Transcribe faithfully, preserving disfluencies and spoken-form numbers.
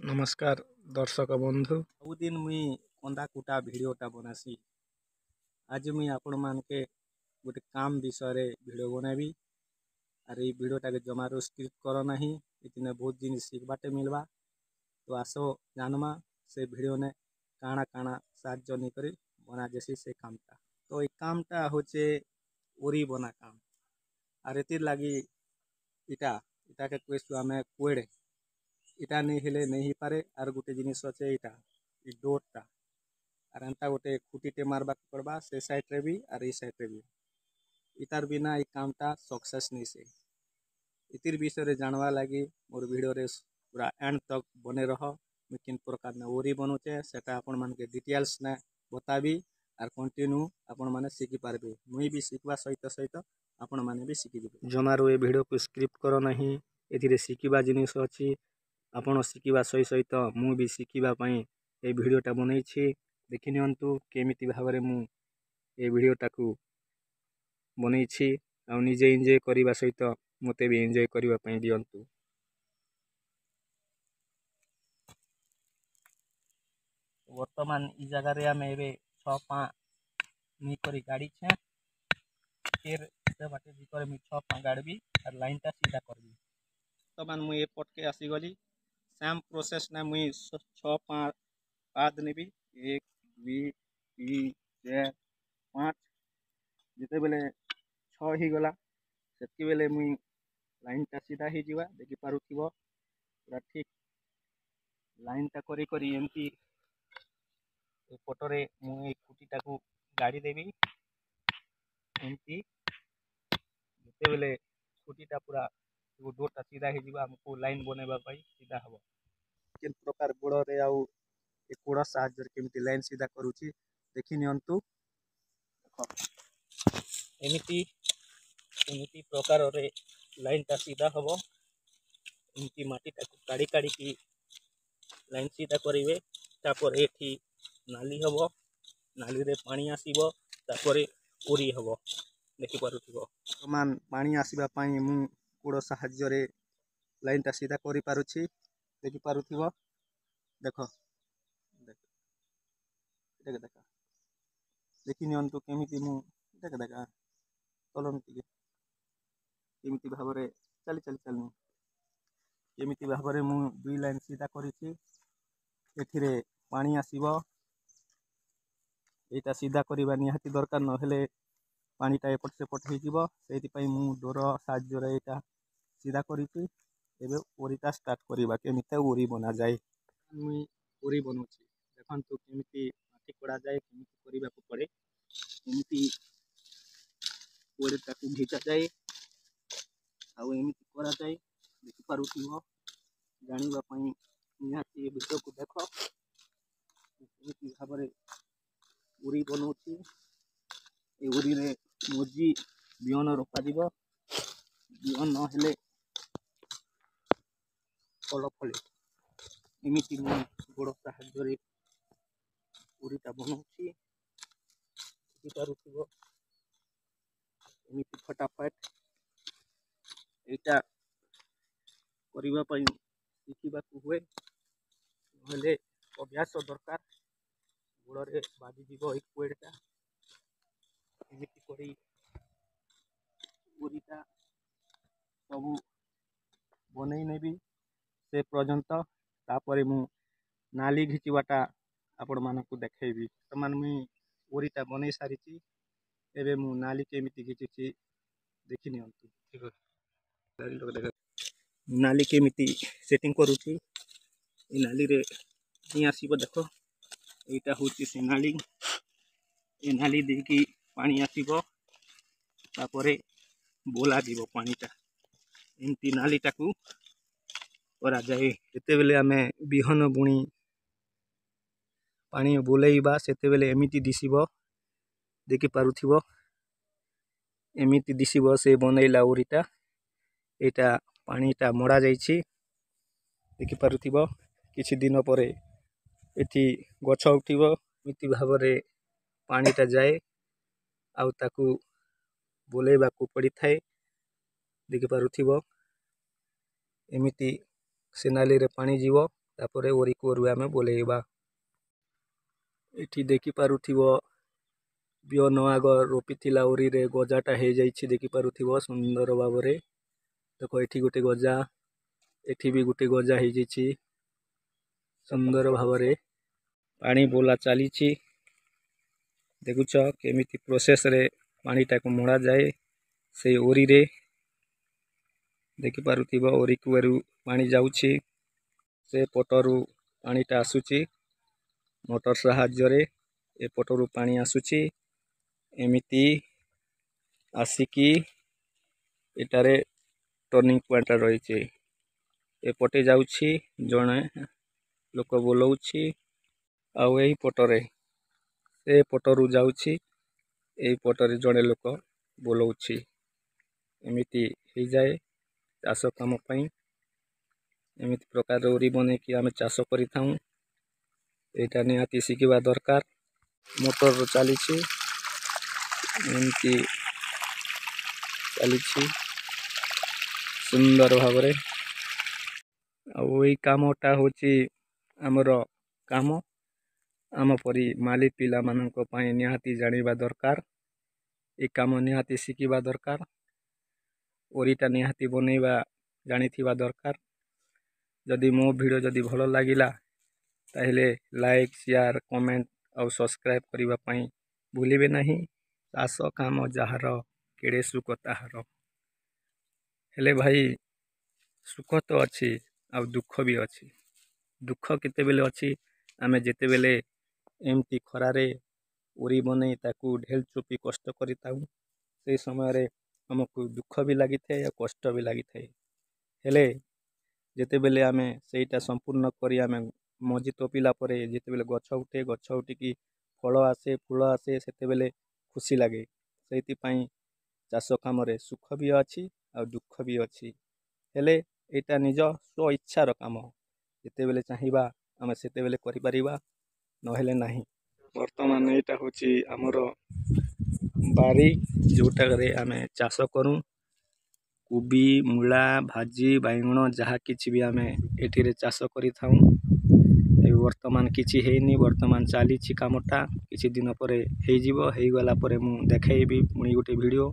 ନମସ୍କାର ଦର୍ଶକ ବନ୍ଧୁ। ସବୁଦିନ ମୁଇଁ କନ୍ଦା କୁଟା ଭିଡ଼ିଓଟା ବନାସି। ଆଜି ମୁଇଁ ଆପଣମାନକେ ଗୋଟେ କାମ ବିଷୟରେ ଭିଡ଼ିଓ ବନାବି। ଆର୍ ଏଇ ଭିଡ଼ିଓଟାକେ ଜମାରୁ ସ୍କିପ୍ କର ନାହିଁ, ଏଥିନେ ବହୁତ ଜିନିଷ ଶିଖବାଟେ ମିଲବା। ତ ଆସ ଜାନମା ସେ ଭିଡ଼ିଓନେ କାଣା କାଣା ସାହାଯ୍ୟ ନେଇକରି ବନାଯାଏସି ସେ କାମଟା। ତ ଏଇ କାମଟା ହଉଛେ ଓରି ବନା କାମ। ଆର୍ ଏଥିର୍ ଲାଗି ଇଟା ଇଟାକେ କହେସୁ ଆମେ କୁଏଡ଼େ। ଇଟା ନେଇ ହେଲେ ନେଇ ହେଇପାରେ। ଆର୍ ଗୋଟେ ଜିନିଷ ଅଛେ ଏଇଟା, ଇ ଡୋର୍ଟା। ଆର୍ ଏନ୍ତା ଗୋଟେ ଖୁଟିଟେ ମାରବାକେ ପଡ଼ବା ସେ ସାଇଡ଼୍ରେ ବି ଆର୍ ଏଇ ସାଇଡ଼୍ରେ ବି। ଇତାର୍ ବିନା ଏଇ କାମଟା ସକ୍ସେସ୍ ନେଇସେ। ଇତିର୍ ବିଷୟରେ ଜାଣବା ଲାଗି ମୋର୍ ଭିଡ଼ିଓରେ ପୁରା ଏଣ୍ଡ ତକ୍ ବନେ ରହ। ମୁଇଁ କେନ୍ ପ୍ରକାର ଓରି ବନଉଛେ, ସେଟା ଆପଣମାନକେ ଡିଟେଲ୍ସ ନେ ବତାବି ଆର୍ କଣ୍ଟିନ୍ୟୁ ଆପଣମାନେ ଶିଖିପାରିବେ। ମୁଇଁ ବି ଶିଖବା ସହିତ ସହିତ ଆପଣମାନେ ବି ଶିଖିଯିବେ। ଜମାରୁ ଏ ଭିଡ଼ିଓକୁ ସ୍କିପ୍ କର ନାହିଁ, ଏଥିରେ ଶିଖିବା ଜିନିଷ ଅଛି। ଆପଣ ଶିଖିବା ସହି ସହିତ ମୁଁ ବି ଶିଖିବା ପାଇଁ ଏ ଭିଡ଼ିଓଟା ବନେଇଛି। ଦେଖିନିଅନ୍ତୁ କେମିତି ଭାବରେ ମୁଁ ଏ ଭିଡ଼ିଓଟାକୁ ବନେଇଛି, ଆଉ ନିଜେ ଏନ୍ଜୟ କରିବା ସହିତ ମୋତେ ବି ଏନ୍ଜୟ କରିବା ପାଇଁ ଦିଅନ୍ତୁ। ବର୍ତ୍ତମାନ ଇ ଜାଗାରେ ଆମେ ଏବେ ଛଅ ପାଁ ନେଇକରି ଗାଡ଼ିଛେଁ। ଫେର୍ ସେ ବାଟେ ଯାଇକରି ମୁଇଁ ଛଅ ପାଁ ଗାଡ଼ିବି ଆର୍ ଲାଇନ୍ଟା ସିଧା କରିବି। ବର୍ତ୍ତମାନ ମୁଇଁ ଏ ପଟକେ ଆସିଗଲି। ସେମ୍ ପ୍ରୋସେସ୍ ନେ ମୁଇଁ ଛଅ ପାଁ ପାଦ ନେବି, ଏକ, ଦୁଇ, ତିନି, ଚାରି, ପାଞ୍ଚ। ଯେତେବେଲେ ଛଅ ହେଇଗଲା, ସେତ୍କି ବେଲେ ମୁଇଁ ଲାଇନ୍ଟା ସିଧା ହେଇଯିବା। ଦେଖିପାରୁଥିବ, ପୁରା ଠିକ୍ ଲାଇନ୍ଟା କରି କରି ଏମିତି ଏ ପଟରେ ମୁଁ ଏଇ ଖୁଟିଟାକୁ ଗାଡ଼ି ଦେବି ଏମିତି। ଯେତେବେଲେ ଖୁଟିଟା ପୁରା ଡୋରଟା ସିଧା ହେଇଯିବ, ଆମକୁ ଲାଇନ୍ ବନେଇବା ପାଇଁ ସିଧା ହେବ। କେନ୍ ପ୍ରକାର ଗୋଡ଼ରେ ଆଉ ଏ କୋଡ଼ ସାହାଯ୍ୟରେ କେମିତି ଲାଇନ୍ ସିଧା କରୁଛି ଦେଖି ନିଅନ୍ତୁ। ଦେଖ, ଏମିତି ଏମିତି ପ୍ରକାରରେ ଲାଇନ୍ଟା ସିଧା ହେବ। ଏମିତି ମାଟିଟାକୁ କାଢ଼ି କାଢ଼ିକି ଲାଇନ୍ ସିଧା କରିବେ। ତାପରେ ଏଠି ନାଲି ହେବ, ନାଲିରେ ପାଣି ଆସିବ, ତାପରେ ଓରି ହେବ। ଦେଖିପାରୁଥିବ। ବର୍ତ୍ତମାନ ପାଣି ଆସିବା ପାଇଁ ମୁଁ କୋଡ଼ ସାହାଯ୍ୟରେ ଲାଇନ୍ଟା ସିଧା କରିପାରୁଛି। ଦେଖିପାରୁଥିବ। ଦେଖ ଦେଖ, ଦେଖ ଦେଖ, ଦେଖି ନିଅନ୍ତୁ କେମିତି ମୁଁ, ଦେଖ ଦେଖ, ଚଲନ୍ତୁ ଟିକେ, କେମିତି ଭାବରେ ଚାଲି ଚାଲି ଚାଲୁ, କେମିତି ଭାବରେ ମୁଁ ଦୁଇ ଲାଇନ୍ ସିଧା କରିଛି। ଏଥିରେ ପାଣି ଆସିବ। ଏଇଟା ସିଧା କରିବା ନିହାତି ଦରକାର, ନହେଲେ ପାଣିଟା ଏପଟ ସେପଟ ହେଇଯିବ। ସେଇଥିପାଇଁ ମୁଁ ଡୋର ସାହାଯ୍ୟରେ ଏଇଟା ସିଧା କରିଛି। ଏବେ ଓରିଟା ଷ୍ଟାର୍ଟ କରିବା, କେମିତି ଓରି ବନାଯାଏ। ମୁଇଁ ଓରି ବନଉଛି, ଦେଖନ୍ତୁ କେମିତି ମାଟି କୋଡ଼ାଯାଏ, କେମିତି କରିବାକୁ ପଡ଼େ, ଏମିତି ଓରିଟାକୁ ଘିଚାଯାଏ ଆଉ ଏମିତି କରାଯାଏ। ଦେଖିପାରୁଥିବ। ଜାଣିବା ପାଇଁ ନିହାତି ଏ ଭିଡ଼ିଓକୁ ଦେଖ, କେମିତି ଭାବରେ ଉରି ବନଉଛି। ଏ ଉରିରେ ମଞ୍ଜି ବିହନ ରୋପାଯିବ। ବିହନ ନହେଲେ ଫଳ ଫଳେ। ଏମିତି ମୁଁ ଗୋଡ଼ ସାହାଯ୍ୟରେ ଉରିଟା ବନଉଛି, ଦେଖିପାରୁଥିବ, ଏମିତି ଫଟାଫଟ। ଏଇଟା କରିବା ପାଇଁ ଶିଖିବାକୁ ହୁଏ, ନହେଲେ ଅଭ୍ୟାସ ଦରକାର। ଗୋଡ଼ରେ ବାଜିଯିବ ଏଇ କୁଏଡ଼ଟା। ଏମିତି କରି ଉରିଟା ସବୁ ବନେଇ ନେବି ସେ ପର୍ଯ୍ୟନ୍ତ। ତାପରେ ମୁଁ ନାଲି ଘିଚିବାଟା ଆପଣମାନଙ୍କୁ ଦେଖେଇବି। ବର୍ତ୍ତମାନ ମୁଇଁ ଓରିଟା ବନେଇ ସାରିଛି। ଏବେ ମୁଁ ନାଲି କେମିତି ଘିଚୁଛି ଦେଖି ନିଅନ୍ତୁ। ନାଲି କେମିତି ସେଟିଂ କରୁଛି। ଏ ନାଲିରେ ହିଁ ଆସିବ। ଦେଖ, ଏଇଟା ହେଉଛି ସେ ନାଲି। ଏ ନାଲି ଦେଇକି ପାଣି ଆସିବ, ତାପରେ ବୋଲାଯିବ ପାଣିଟା। ଏମିତି ନାଲିଟାକୁ କରାଯାଏ। ଯେତେବେଲେ ଆମେ ବିହନ ବୁଣି ପାଣି ବୁଲେଇବା, ସେତେବେଲେ ଏମିତି ଦିଶିବ। ଦେଖିପାରୁଥିବ, ଏମିତି ଦିଶିବ ସେ ବନେଇଲା ଓରିଟା। ଏଇଟା ପାଣିଟା ମଡ଼ା ଯାଇଛି, ଦେଖିପାରୁଥିବ। କିଛି ଦିନ ପରେ ଏଠି ଗଛ ଉଠିବ। ଏମିତି ଭାବରେ ପାଣିଟା ଯାଏ ଆଉ ତାକୁ ବୁଲେଇବାକୁ ପଡ଼ିଥାଏ। ଦେଖିପାରୁଥିବ, ଏମିତି ସେ ନାଲିରେ ପାଣି ଯିବ। ତାପରେ ଓରି କୂଅରୁ ଆମେ ବୋଲେଇବା। ଏଠି ଦେଖିପାରୁଥିବ, ବିହନ ଆଗ ରୋପିଥିଲା ଓରିରେ, ଗଜାଟା ହେଇଯାଇଛି, ଦେଖିପାରୁଥିବ ସୁନ୍ଦର ଭାବରେ। ଦେଖ, ଏଠି ଗୋଟେ ଗଜା, ଏଠି ବି ଗୋଟେ ଗଜା ହେଇଯାଇଛି। ସୁନ୍ଦର ଭାବରେ ପାଣି ବୋଲା ଚାଲିଛି। ଦେଖୁଛ କେମିତି ପ୍ରୋସେସରେ ପାଣିଟାକୁ ମଡ଼ାଯାଏ ସେଇ ଓରିରେ। ଦେଖିପାରୁଥିବ, ଓରି କୂଅରୁ ପାଣି ଯାଉଛି, ସେ ପଟରୁ ପାଣିଟା ଆସୁଛି ମୋଟର ସାହାଯ୍ୟରେ, ଏପଟରୁ ପାଣି ଆସୁଛି। ଏମିତି ଆସିକି ଏଟାରେ ଟର୍ଣ୍ଣିଂ ପଏଣ୍ଟଟା ରହିଛି। ଏପଟେ ଯାଉଛି, ଜଣେ ଲୋକ ବୋଲଉଛି, ଆଉ ଏଇ ପଟରେ ସେ ପଟରୁ ଯାଉଛି, ଏଇ ପଟରେ ଜଣେ ଲୋକ ବୋଲଉଛି। ଏମିତି ହେଇଯାଏ ଚାଷ କାମ ପାଇଁ। ଏମିତି ପ୍ରକାର ଓରି ବନେଇକି ଆମେ ଚାଷ କରିଥାଉଁ। ଏଇଟା ନିହାତି ଶିଖିବା ଦରକାର। ମୋଟର ଚାଲିଛି, ଏମିତି ଚାଲିଛି ସୁନ୍ଦର ଭାବରେ। ଆଉ ଏଇ କାମଟା ହେଉଛି ଆମର କାମ। ଆମ ପରି ମାଲି ପିଲାମାନଙ୍କ ପାଇଁ ନିହାତି ଜାଣିବା ଦରକାର, ଏ କାମ ନିହାତି ଶିଖିବା ଦରକାର, ଓରିଟା ନିହାତି ବନେଇବା ଜାଣିଥିବା ଦରକାର। ଯଦି ମୋ ଭିଡ଼ିଓ ଯଦି ଭଲ ଲାଗିଲା, ତାହେଲେ ଲାଇକ୍, ସେୟାର, କମେଣ୍ଟ ଆଉ ସବସ୍କ୍ରାଇବ୍ କରିବା ପାଇଁ ଭୁଲିବେ ନାହିଁ। ଚାଷ କାମ ଯାହାର, କେଡ଼େ ସୁଖ ତାହାର। ହେଲେ ଭାଇ, ସୁଖ ତ ଅଛି ଆଉ ଦୁଃଖ ବି ଅଛି। ଦୁଃଖ କେତେବେଳେ ଅଛି? ଆମେ ଯେତେବେଳେ ଏମିତି ଖରାରେ ଓରି ବନେଇ ତାକୁ ଢେଲ ଚୋପି କଷ୍ଟ କରିଥାଉ, ସେଇ ସମୟରେ ଆମକୁ ଦୁଃଖ ବି ଲାଗିଥାଏ ଆଉ କଷ୍ଟ ବି ଲାଗିଥାଏ। ହେଲେ ଯେତେବେଳେ ଆମେ ସେଇଟା ସମ୍ପୂର୍ଣ୍ଣ କରି ଆମେ ମଞ୍ଜି ତୋପିଲା ପରେ ଯେତେବେଳେ ଗଛ ଉଠେ, ଗଛ ଉଠିକି ଫଳ ଆସେ, ଫୁଲ ଆସେ, ସେତେବେଳେ ଖୁସି ଲାଗେ। ସେଇଥିପାଇଁ ଚାଷ କାମରେ ସୁଖ ବି ଅଛି ଆଉ ଦୁଃଖ ବି ଅଛି। ହେଲେ ଏଇଟା ନିଜ ସ୍ୱ ଇଚ୍ଛାର କାମ, ଯେତେବେଳେ ଚାହିଁବା ଆମେ ସେତେବେଳେ କରିପାରିବା, ନହେଲେ ନାହିଁ। ବର୍ତ୍ତମାନ ଏଇଟା ହେଉଛି ଆମର ବାରି, ଯେଉଁଟାରେ ଆମେ ଚାଷ କରୁ କୋବି, ମୂଳା, ଭାଜି, ବାଇଗଣ, ଯାହା କିଛି ବି ଆମେ ଏଠିରେ ଚାଷ କରିଥାଉଁ। ଏବେ ବର୍ତ୍ତମାନ କିଛି ହେଇନି, ବର୍ତ୍ତମାନ ଚାଲିଛି କାମଟା। କିଛି ଦିନ ପରେ ହେଇଯିବ। ହେଇଗଲା ପରେ ମୁଁ ଦେଖେଇବି ପୁଣି ଗୋଟେ ଭିଡ଼ିଓ।